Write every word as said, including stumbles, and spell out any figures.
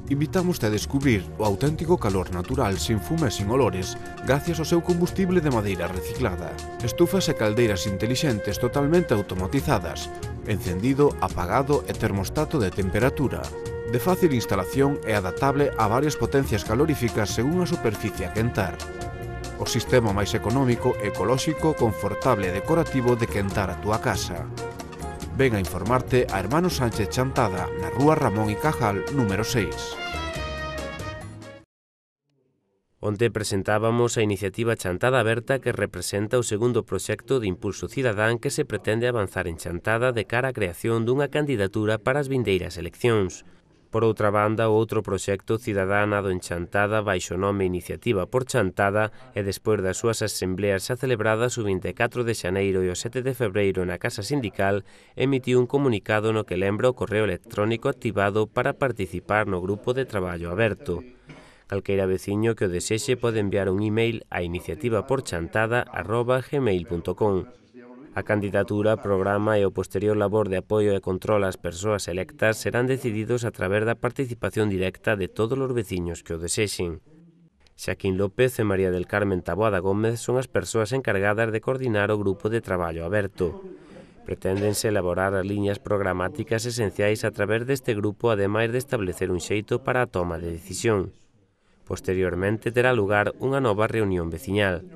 Invitamos a descubrir o auténtico calor natural sin fuma e sin olores gracias ao seu combustible de madeira reciclada. Estufas e caldeiras intelixentes totalmente automatizadas, encendido, apagado e termostato de temperatura. De fácil instalación e adaptable a varias potencias caloríficas según a superficie a quentar. O sistema máis económico, ecolóxico, confortable e decorativo de quentar a túa casa. Ven a informarte a Hermanos Sánchez Chantada, na rúa Ramón y Cajal, número seis. Onte presentábamos a iniciativa Chantada Aberta, que representa o segundo proxecto de impulso cidadán que se pretende avanzar en Chantada de cara á creación dunha candidatura para as vindeiras eleccións. Por outra banda, o outro proxecto cidadánado en Chantada baixo o nome Iniciativa por Chantada e despois das súas asembleas xa celebradas o vinte e catro de xaneiro e o sete de febreiro na Casa Sindical, emitiu un comunicado no que lembra o correo electrónico activado para participar no grupo de traballo aberto. Calqueira veciño que o desexe pode enviar un email a iniciativaporchantada arroba gmail punto com. A candidatura, programa e o posterior labor de apoio e control ás persoas electas serán decididos a través da participación directa de todos os veciños que o desexen. Xaquín López e María del Carmen Taboada Gómez son as persoas encargadas de coordinar o grupo de traballo aberto. Preténdense elaborar as liñas programáticas esenciais a través deste grupo, ademais de establecer un xeito para a toma de decisión. Posteriormente terá lugar unha nova reunión veciñal.